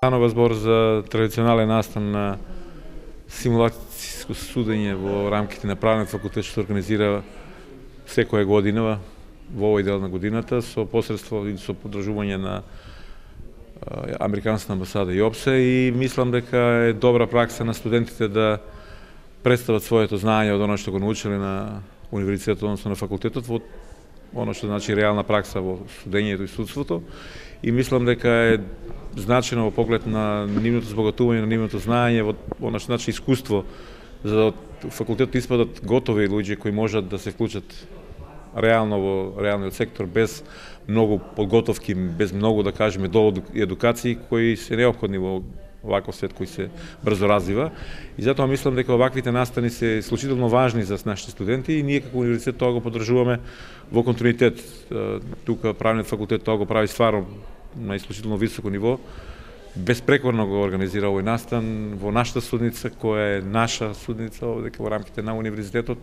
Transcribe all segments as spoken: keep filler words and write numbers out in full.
Станува збор за традиционален настан на симулацијско судење во рамките на правниот факултет, што се организира секоја година во овој дел на годината со посредство и со подржување на Американската амбасада и ОПСЕ, и мислам дека е добра пракса на студентите да представат своето знаење од оно што го научиле на универзитетот, односно на факултетот, во оно што значи реална пракса во судењето и судството, и мислам дека е значено во поглед на нивното збогатување, на нивното знаење, во оно што значи искуство, за да од факултетот испадат готови луѓе кои можат да се вклучат реално во реалниот сектор без многу подготовки, без многу, да кажеме, доволно едукации кои се неопходни во оваков свет кој се брзо развива. И затоа мислам дека оваквите настани се исклучително важни за нашите студенти, и ние како универзитет тоа го поддржуваме во континуитет. Тука правниот факултет тоа го прави стварно на исклучително високо ниво. Безпрекорно го организира овој настан во нашата судница, која е наша судница овде во рамките на универзитетот,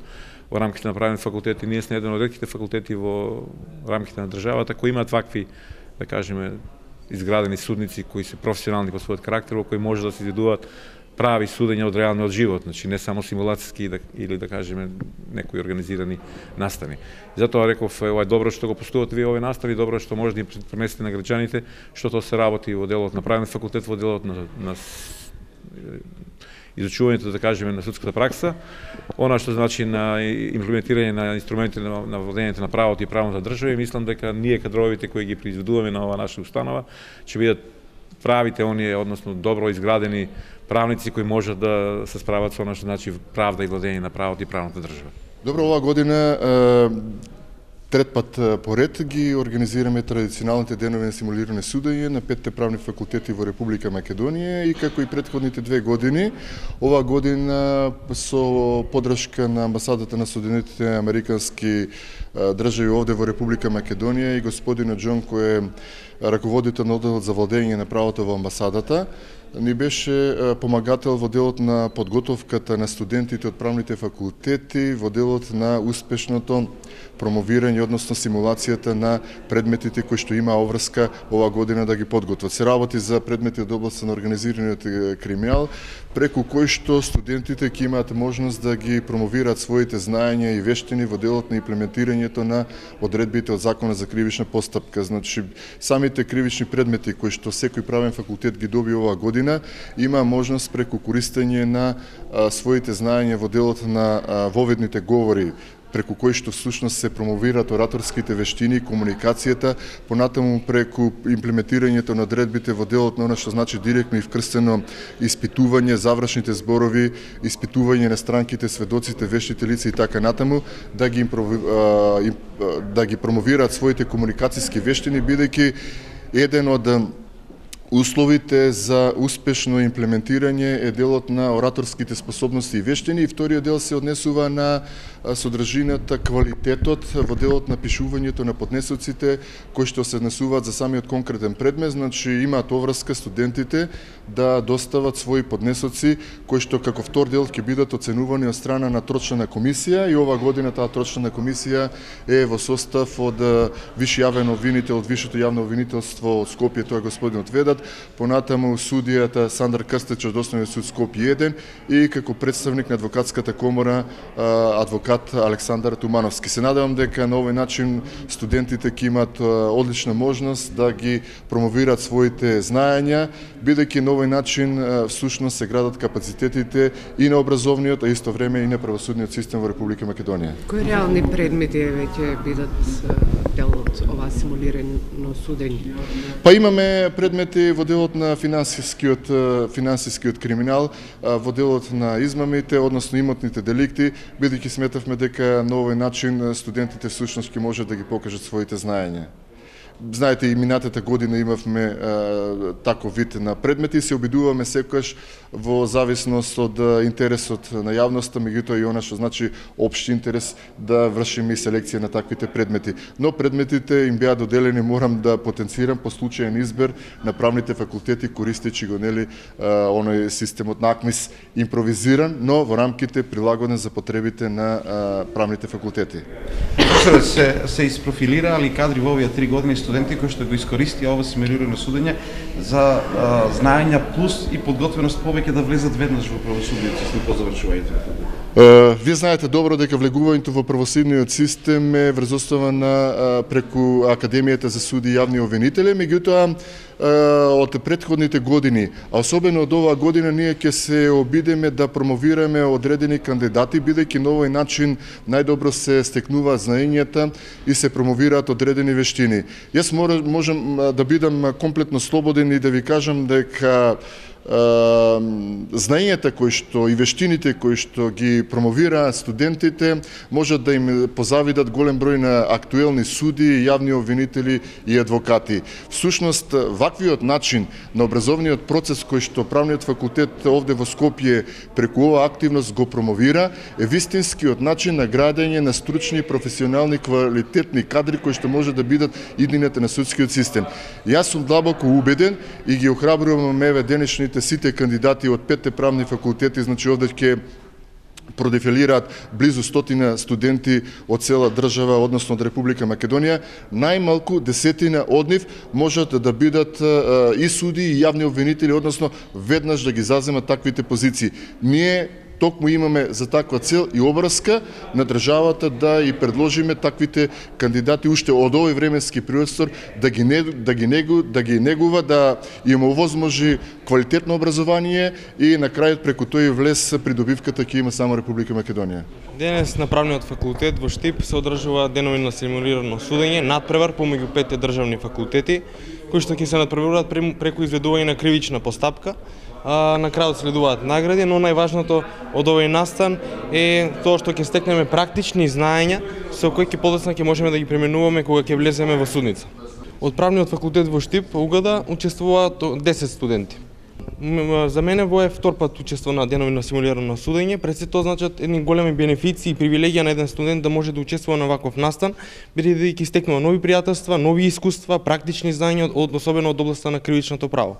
во рамките на правниот факултет, и ние сме еден од ретките факултети во рамките на државата кои имаат вакви, да кажеме, изградени судници кои се професионални по својот карактер, во кои може да се изведуваат прави судења од реалниот живот, значи не само симулацијски или, да кажеме, некои организирани настани. Затоа реков, ова е добро што го постувате вие овој настани, добро што може да им пренесете на граѓаните што тоа се работи во делот на правниот факултет, во делот на, на изучувањето, да кажеме, на судската пракса, она што значи на имплементирање на инструменти на, на владењето на правото и правната држава, и мислам дека ние кадровите кои ги произведуваме на ова наша установа ќе бидат правите оние, односно добро изградени правници кои можат да се справат со она што значи правда и владење на правото и правната држава. Добро, оваа година трет пат поред ги организираме традиционалните денови на симулирано судење на петте правни факултети во Република Македонија, и како и претходните две години, оваа година со поддршка на амбасадата на Соединетите американски држави овде во Република Македонија и господинот Џон, кој е раководител на одделот за владење на правото во амбасадата, ни беше помагател во делот на подготовката на студентите од правните факултети, во делот на успешното промовирање, односно симулацијата на предметите кои што има обврска оваа година да ги подготват. Се работи за предмети од областа на организираниот криминал, преку кои што студентите ќе имаат можност да ги промовираат своите знаења и вештини во делот на имплементирањето на одредбите од Законот за кривична постапка. Значи, самите кривични предмети кои што секој правен факултет ги доби оваа година, има можност преку користење на а, своите знаења во делот на а, воведните говори, преку кои што всушност се промовираат ораторските вештини, комуникацијата, понатаму преку имплементирањето на одредбите во делот на она што значи директно и вкрстено испитување, завршните зборови, испитување на странките, сведоците, вештите лица и така натаму, да ги, да ги промовираат своите комуникацијски вештини, бидејќи еден од условите за успешно имплементирање е делот на ораторските способности и вештини, и вториот дел се однесува на содржината, квалитетот во делот на пишувањето на поднесоците кои што се однесуваат за самиот конкретен предмет. Значи имаат оврска студентите да достават своји поднесоци кои што како втор дел ќе бидат оценувани од страна на трочна комисија, и оваа година таа трочна комисија е во состав од виши јавен обвинител од Вишето јавно обвинителство од Скопје, тоа е господинот Ведат, понатаму судијата Сандар Крстеч од Основниот суд Скопје еден, и како представник на адвокатската комора адвокат Александар Тумановски. Се надевам дека на овој начин студентите ќе имаат одлична можност да ги промовираат своите знаења, бидејќи на овој начин всушност се градат капацитетите и на образовниот, а исто време и на правосудниот систем во Република Македонија. Кои реални предмети веќе бидат дел од ова симулирано судење? Па имаме предмети во делот на финансискиот финансискиот криминал, во делот на измамите, односно имотните деликти, бидејќи сметавме дека на овој начин студентите всушност ќе можат да ги покажат своите знаења. Знаете, и минатата година имавме а, таков вид на предмети и се обидуваме секогаш во зависност од интересот на јавноста, меѓутоа и она што значи општ интерес, да вршиме и селекција на таквите предмети. Но предметите им беа доделени, морам да потенцирам, по случаен избор на правните факултети, користејќи го нели а, оној системот на АКМИС, импровизиран, но во рамките прилагоден за потребите на а, правните факултети. Се се испрофилираали кадри во овие три години студенти кои што го искористија ова симулирано судење за а, знаења плюс и подготвеност повеќе да влезат веднаш во правосудниот систем по завршувањето на факултетот. Вие знаете добро дека влегувањето во правосудниот систем е врз основа на преку Академијата за суди и јавни обвинители, меѓутоа од претходните години, а особено од оваа година, ние ќе се обидеме да промовираме одредени кандидати, бидејќи на овој начин најдобро се стекнуваат знаењата и се промовираат одредени вештини. Јас можам да бидам комплетно слободен и да ви кажам дека знаењата кои што и вештините кои што ги промовираат студентите можат да им позавидат голем број на актуелни суди, јавни обвинители и адвокати. Всушност, ваквиот начин на образовниот процес кој што правниот факултет овде во Скопје преку оваа активност го промовира е вистинскиот начин на градење на стручни, професионални, квалитетни кадри кои што може да бидат иднината на судскиот систем. Јас сум длабоко убеден и ги охрабрувам еве денешните сите кандидати од петте правни факултети, значи овде ќе продефилираат близу стотина студенти од цела држава, односно од Република Македонија, најмалку десетина од нив можат да бидат и суди и јавни обвинители, односно веднаш да ги заземат таквите позиции. Ние токму имаме за таква цел и обврска на државата да и предложиме таквите кандидати уште од овој временски простор да ги не, да ги негу, да ги негува, да им овозможи квалитетно образование и на крајот преку тој влез придобивката ќе има само Република Македонија. Денес на правниот факултет во Штип се одржува денови на симулирано судење, надпревар помеѓу петте државни факултети, кои што ќе се надпреваруваат преку изведување на кривична постапка. А, на крајот следуваат награди, но најважното од овој настан е тоа што ќе стекнеме практични знаења со кои ќе подоцна ќе можеме да ги применуваме кога ќе влеземе во судница. Од правниот факултет во Штип, Угада, учествуваат десет студенти. За мене во е втор пат учество на денови на симулирано судење, пред се тоа значат едни големи бенефиции и привилегија на еден студент да може да учествува на ваков настан, бидејќи стекнува нови пријателства, нови искуства, практични знаења, особено од областта на кривичното право.